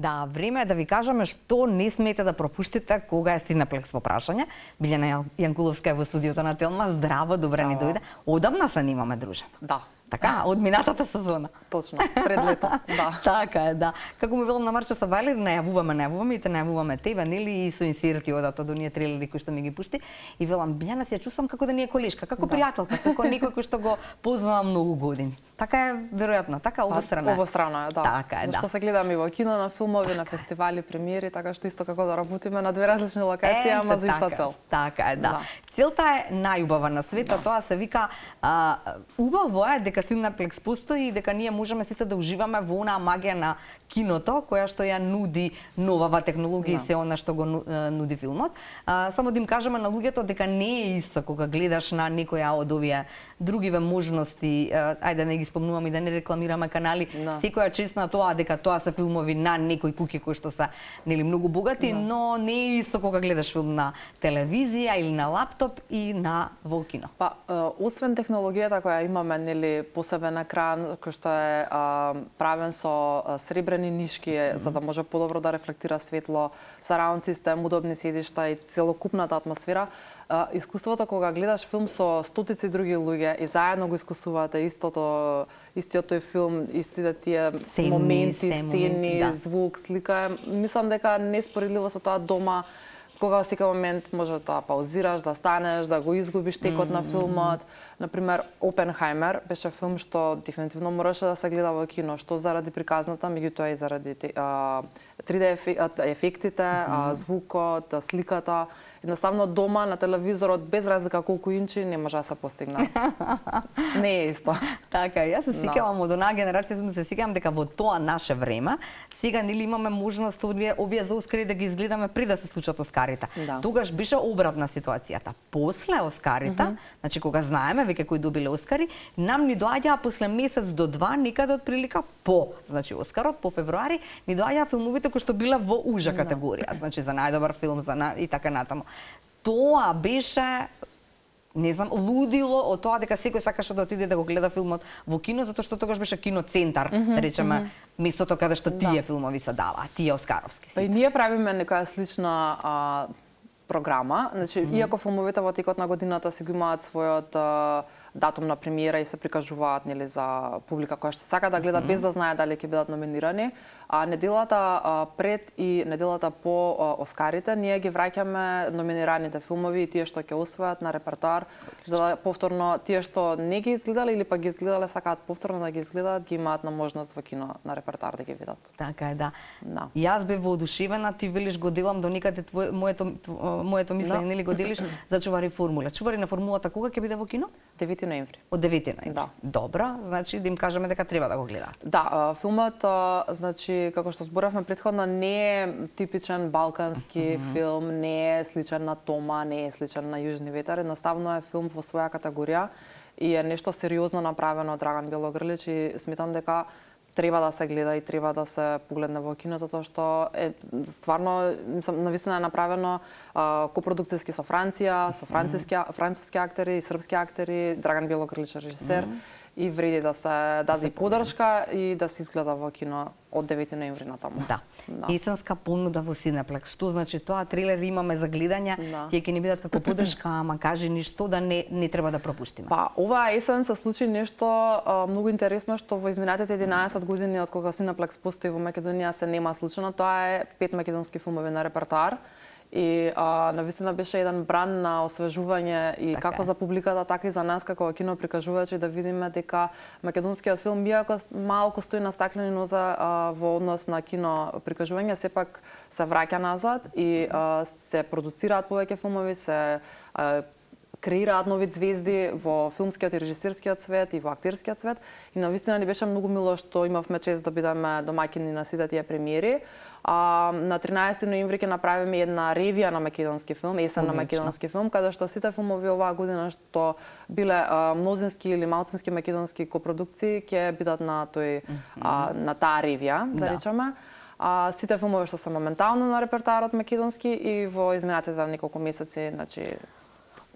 Да, време е да ви кажеме што не смете да пропуштите кога е Синеплекс во прашање. Билјана Јанкуловска е во студиото на Телма. Здраво, добре ни дојде. Одамна се немаме дружена. Да. Така, од минатата сезона. Точно, пред лето, да. Така е, да. Како му велам на Марча Сабајлер, најавуваме и те најавуваме тебе, нели, и со инсерти одат од оние трейлери кои што ми ги пушти. И велам, Билјана, се ја чувствам како да ни е колешка, како пријателка, како некој кој што го познавам многу години. Така е, веројатно, така обострана. Обострана е, да. Така е, да. Зашто се гледаме и во кино, на филмови, на фестивали, премиери, така што исто како да работиме на две различни локации, ама за иста цел. Така е, да. Целта е најубава на светот, тоа се вика убаво е дека Синеплекс постои и дека ние можеме сите да уживаме во онаа магија на киното, која што ја нуди новава технологија и се она што го нуди филмот. Само да им кажеме на луѓето дека не е исто кога гледаш на некоја од овие другиве можности, ајде не ги спомнувам и да не рекламираме канали, секоја чест на тоа дека тоа се филмови на некои куки кои што се нели многу богати, но не е исто кога гледаш филм на телевизија или на лаптоп и на во кино. Па освен технологијата која имаме нели посебен екран кој што е правен со сребрени нишки за да може подобро да рефлектира светло, сараунд систем, удобни седишта и целокупната атмосфера. Искуството кога гледаш филм со стотици други луѓе и заедно го искусувате истиот тој филм, истите тие моменти, сцени, звук, слика, мислам дека неспоредливо со тоа дома кога во секој момент може да паузираш, да станеш, да го изгубиш текот на филмот. Например, Опенхаймер беше филм што дефинитивно мораше да се гледа во кино, што заради приказната, меѓутоа и заради 3D ефектите, звукот, сликата. Едноставно дома на телевизорот без разлика колку инчи не може да се постигне. Не е исто. Така, јас се сеќавам од онаа генерација, се сеќавам дека во тоа наше време сега нели имаме можност овие за Оскари да ги изгледаме пред да се случат Оскарите. Тогаш беше обратна ситуацијата. После Оскарите, значи кога знаеме веќе кои добиле Оскари, нам ни доаѓаа после месец до два, некаде од прилика по, значи Оскарот по февруари, ни доаѓаа филмовите кои што биле во ужа категорија, значи за најдобар филм, и така натаму. Тоа беше, не знам, лудило од тоа дека секој сакаше да отиде да го гледа филмот во кино, затоа што тогаш беше киноцентар, да речеме, местото каде што тие филмови се даваа, тие оскаровски. Па и ние правиме некоја слична програма, значи иако филмовите во текот на годината си го имаат својот датум на премиера и се прикажуваат нели за публика која што сака да гледа без да знае дали ќе бидат номинирани, а неделата пред и неделата по Оскарите ние ги враќаме номинираните филмови и тие што ќе освојат на репертоар за да повторно тие што не ги изгледале или па ги изгледале сакаат повторно да ги изгледаат, ги имаат на можност во кино на репертоар да ги видат. Така е, да. Јас бев воодушевена, ти велиш го делам до некаде моето мислење, нели го делиш за Чувари формула. Чувари на формулата кога ќе биде во кино? 9 ноември. Од 9 ноември. Да. Добро, значи да им кажеме дека треба да го гледаат. Да, филмот значи како што зборавме претходно не е типичен балкански филм, не е сличен на Тома, не е сличен на Јужни ветар, едноставно е филм во своја категорија и е нешто сериозно направено од Драган Белогрлич и сметам дека треба да се гледа и треба да се погледне во кино затоа што е стварно навистина е направено копродукцијски со Франција, со француски актери и српски актери, Драган Белогрлич режисер и вреди да се даде поддршка и да се изгледа во кино од 9 ноември натаму. Да. Есенска понуда во Синеплекс. Што значи тоа? Трейлери имаме за гледање, тие ќе ни бидат како поддршка, ама кажи ни што да не треба да пропуштиме. Па, оваа есен се случи нешто многу интересно што во изминатите 11 години од кога Синеплекс постои во Македонија се нема случено. Тоа е 5 македонски филмови на репертоар. И навистина беше еден бран на освежување и како за публиката, така и за нас како киноприкажувачи да видиме дека македонскиот филм, иако малку стои на стаклени нозе во однос на киноприкажување, сепак се враќа назад и се продуцираат повеќе филмови, се креираат нови звезди во филмскиот и режисерскиот свет и во актерскиот свет. И навистина ни беше многу мило што имавме чест да бидеме домаќини на сите тие премиери. На 13 ноември ќе направиме една ревија на македонски филм, есен на македонски филм, каде што сите филмови оваа година што биле мнозински или малцински македонски копродукции ќе бидат на на таа ревија, да речеме. Сите филмови што се моментално на репертоарот македонски и во изминатите неколку месеци, значи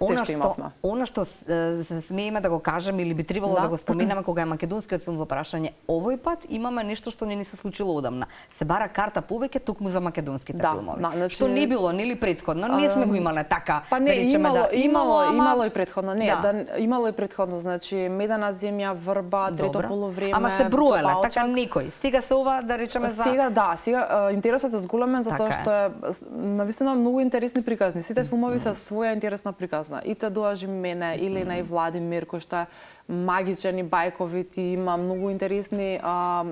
Она што се смееме да го кажеме или би требало да го споменеме кога е македонскиот филм во прашање, овој пат имаме нешто што не ни се случило одамна. Се бара карта повеќе токму за македонските филмови. Што не било нели претходно, не сме го имале така. Па не, имало и претходно, имало и претходно, значи Медена земја, Врба, Трето полувреме. Ама се броеле, така некој. Стига се ова да речеме за Сега интересот е зголемен затоа што е навистина многу интересни приказни. Сите филмови се своја интересна приказна. И Те доажи мене, Елена и Владимир, кој што е магичен и бајковит и има многу интересни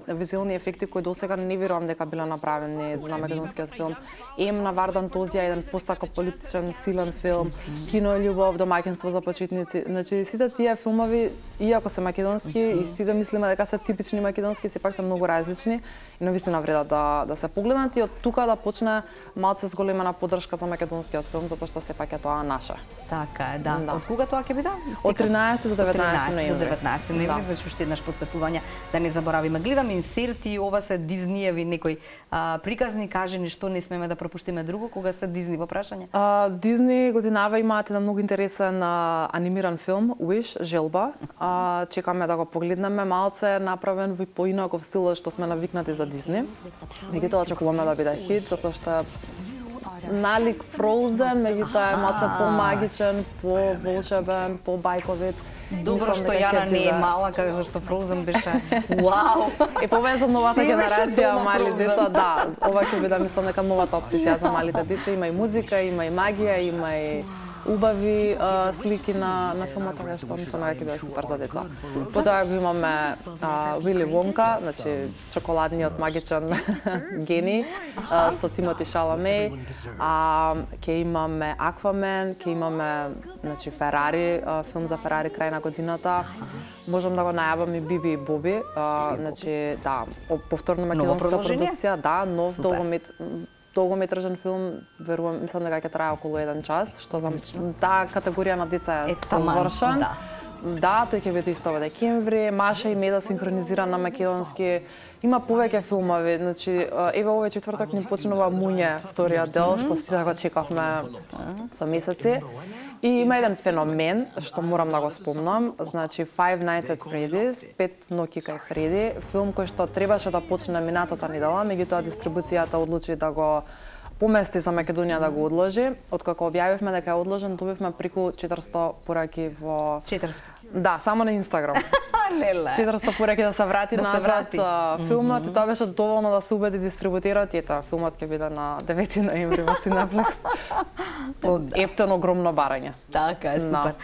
визуелни ефекти кои досега не верувам дека биле направени за македонскиот филм. На Вардан Тозија, еден постапокалиптичен силен филм, Кино и љубов, Домаќинство за почетници. Значи сите тие филмови, иако се македонски и сите мислиме дека се типични македонски, сепак се многу различни и навистина вреда да се погледнат и од тука да почне малце зголемена поддршка за македонскиот филм, затоа што сепак е тоа наше. Така е, да. Од кога тоа ќе биде? Од 13 до 19 до 19 ноември, веќе уште еднаш потсетување да не заборавиме. Гледам инсерти, ова се Дизниеви некои приказни, кажи ни што не смеме да пропуштиме друго кога се Дизни во прашање. Дизни годинава имаат еден многу интересен анимиран филм Wish, Желба. Чекаме да го погледнеме, малце направен во поинаков стил што сме навикнати за Дизни. Меѓутоа очекуваме да биде хит затоа што налик Frozen, меѓутоа е малце помагичен, поволшебен, побајковит. Добро што Јана не е мала, зашто Frozen беше вау. И повеза новата генерација мали деца, да, ова ќе биде мислам дека новата обсесија за малите деца, има и музика, има и магија, има и убави слики на филмот, така што мислам дека ќе биде супер за деца. Потоа го имаме Вили Вонка, значи чоколадниот магичен гени со Тимоти Шаламе, ќе имаме Аквамен, ќе имаме значи Ферари, филм за Ферари крај на годината. Можам да го најавам и Биби и Боби, значи да, повторно македонска продукција, да, нов долгометражен филм, верувам, мислам дека ќе трае околу 1 час, што за таа категорија на деца е совршен. Да, тој ќе биде исто во декември, Маша и Меда синхронизиран на македонски. Има повеќе филмови, значи еве овој четврток ни почнува Муње, вториот дел, што сите го чекавме за месеци. И има еден феномен што морам да го спомнам, значи Five Nights at Freddy's, 5 ноќи кај Фреди, филм кој што требаше да почне минатата недела, меѓутоа дистрибуцијата одлучи да го помести за Македонија да го одложи. Откако објавивме дека е одложен, добивме преку 400 пораки во 400. Да, само на Инстаграм. 400 пораки да се врати назад филмот и тоа беше доволно да се убеди дистрибутерот и ета филмот ќе биде на 9 ноември во Cineplex. Ептен огромно барање. Така е, супер.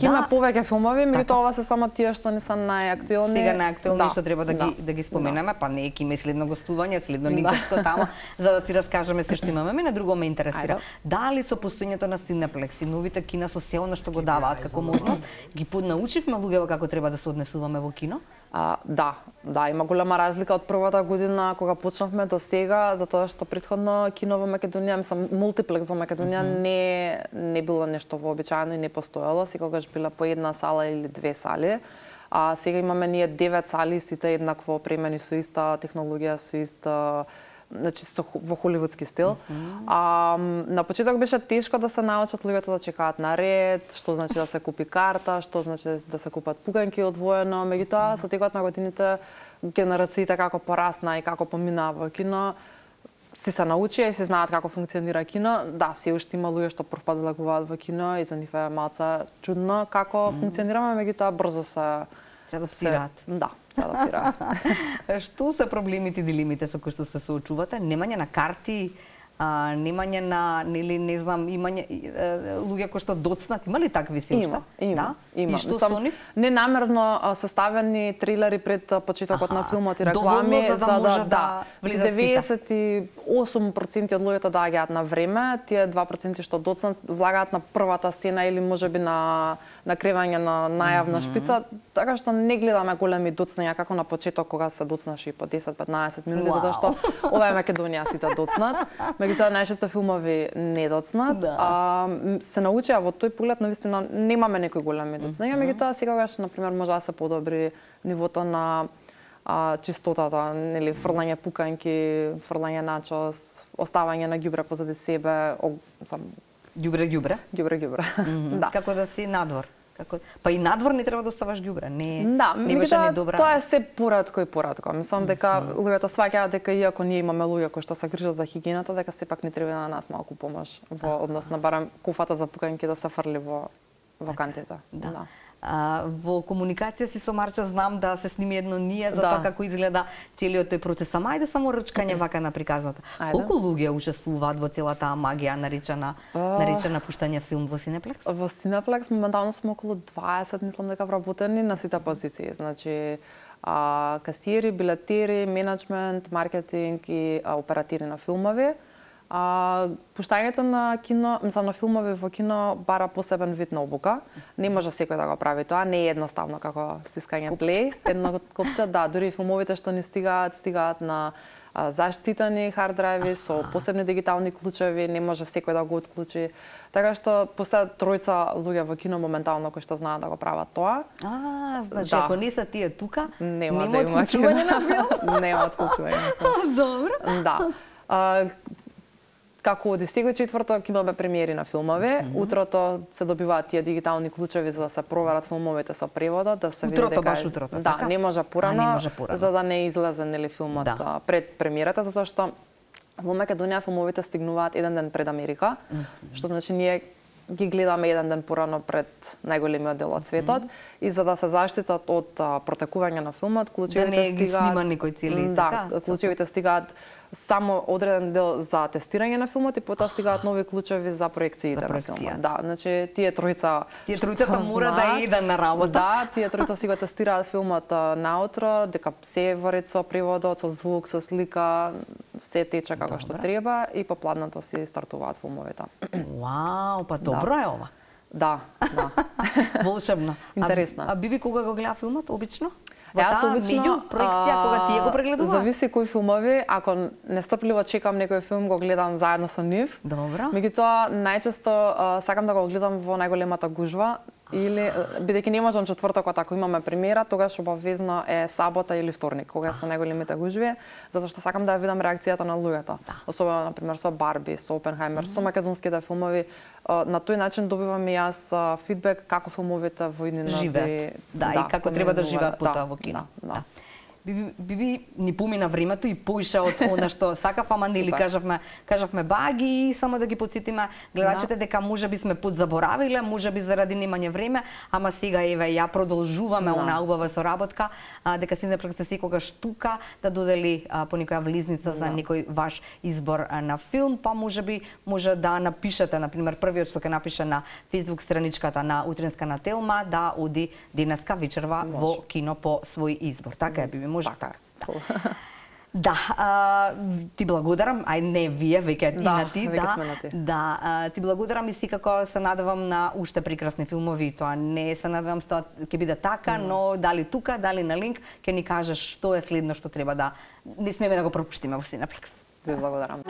Има повеќе филмови, меѓутоа ова се само тие што не се најактуелни. Сега најактуелни што треба да ги споменеме, па не ќе има следно гостување, следно линковско тамо, за да ти раскажеме се што имаме. Мене друго ме интересира. Дали со постојањето на Cineplex и новите кина со се она што го даваат како можност, ги поднаучивме луѓето како треба да се однесуваме во кино? Да, има голема разлика од првата година кога почнавме до сега, затоа што претходно кино во Македонија, мислам мултиплекс во Македонија не било нешто вообичаено и не постоело, секогаш била по една сала или 2 сали. А сега имаме ние 9 сали, сите еднакво опремени со иста технологија, со иста значи во холивудски стил. На почеток беше тешко да се научат луѓето да чекаат на ред, што значи да се купи карта, што значи да се купат пуганки одвоено, меѓутоа со текот на годините генерациите како порасна и како поминаа во кино, си се научија и се знаат како функционира кино. Да, се уште има луѓе што првпат влегуваат во кино и за нив е малце чудно како функционираме, меѓутоа брзо се адаптираат. Да. Што се проблемите и дилемите со кои што се соочувате? Немање на карти, немање на, нели, не знам, имање луѓе кои што доцнат, има ли такви се уште? Има. И што со нив? Ненамерно составени трилери пред почетокот на филмот и реклами за да може да влизат сите. 98% од луѓето доаѓаат на време, тие 2% што доцнат влагаат на првата сцена или можеби на накревање на најавна шпица, така што не гледаме големи доцнања како на почеток кога се доцнаш и по 10-15 минути, затоа што ова е Македонија, сите доцнат. Меѓутоа нашите филмови не доцнат. Се научија во тој поглед, навистина немаме некои големи доцнања, меѓутоа секогаш на пример може да се подобри нивото на чистотата, нели, фрлање пуканки, фрлање начос, оставање на ѓубре позади себе, Ѓубре? Ѓубре. Да. Како да си надвор? Па и надвор не треба да оставаш ѓубре, не беше ни добра. Тоа е се поратко и поратко. Мислам дека луѓето сваќаат дека иако ние имаме луѓе кои што се грижат за хигиената, дека сепак не треба на нас малку помош во однос на барем куфата за пукање да се фрли во кантите. Да. Во комуникација си со Марча знам да се сними едно ние за тоа како изгледа целиот тој процес. Ама ајде само рчкање вака на приказната. Колку луѓе учествуваат во целата магија наречена пуштање филм во Синеплекс? Во Синеплекс моментално сме околу 20, мислам дека вработени на сите позиции. Значи касиери, билетери, менеджмент, маркетинг и оператири на филмови. Пуштањето на кино, мислам на филмови во кино бара посебен вид на обука. Не може секој да го прави тоа, не е едноставно како стискање плей, едно копче, да, дури филмовите што ни стигаат на заштитени хард драйви со посебни дигитални клучеви, не може секој да го отклучи. Така што постојат тројца луѓе во кино моментално кои што знаат да го прават тоа. Значи ако не се тие тука, нема отклучување на филм. Нема отклучување на филм. Добро. Да. Како оди секој четврток имаме премиери на филмови, утрото се добиваат тие дигитални клучеви за да се проверат филмовите со преводот, да се види дека баш утрото, да, така? Не може порано, за да не излезе нели филмот пред премиерата, затоа што во Македонија филмовите стигнуваат еден ден пред Америка, што значи ние ги гледаме еден ден порано пред најголемиот дел од светот и за да се заштитат од протекување на филмот, клучевите стигаат. Да не ги снима никој цели така. Да, клучевите стигаат само одреден дел за тестирање на филмот и потоа стигаат нови клучеви за проекциите на филмот. Да, значи тие тројцата мора да идат на работа. Да, тие тројца си го тестираат филмот наутро, дека се во ред со преводот, со звук, со слика, се тече како што треба и по пладното си стартуваат филмовите. Вау, па добро е ова. Да. Волшебно. Интересно. Биби кога го гледа филмот обично? Јас обично проекција кога тие го прегледува? Зависи кои филмови, ако нестрпливо чекам некој филм, го гледам заедно со нив. Добро. Меѓутоа најчесто сакам да го гледам во најголемата гужва или бидејќи не можам четвртокот ако имаме премиера, тогаш обавезно е сабота или вторник, кога се најголемите гужви, затоа што сакам да ја видам реакцијата на луѓето. Особено на пример со Барби, со Опенхајмер, со македонските филмови. На тој начин добивам и јас фидбек како филмовите во иднина живеат. Да, и како треба да живеат потоа во кино. Биби ни помина времето и поиша од она што сакав, ама нели кажавме баги и само да ги потсетиме гледачите дека можеби сме подзаборавиле, можеби заради немање време, ама сега еве ја продолжуваме онаа убава соработка, дека Синеплекс секогаш тука да додели по некоја влизница за некој ваш избор на филм, па можеби може да напишете, на пример првиот што ќе напише на Facebook страничката на Утринска на Телма да оди денеска вечерва во кино по свој избор. Така е, Биби. Може. Така. Да, ти благодарам, не вие, веќе и на ти, да, ти благодарам и секако се надевам на уште прекрасни филмови, тоа не се надевам што ќе биде така, но дали тука, дали на линк, ќе ни кажеш што е следно што треба да не смееме да го пропуштиме во Синеплекс. Ви благодарам.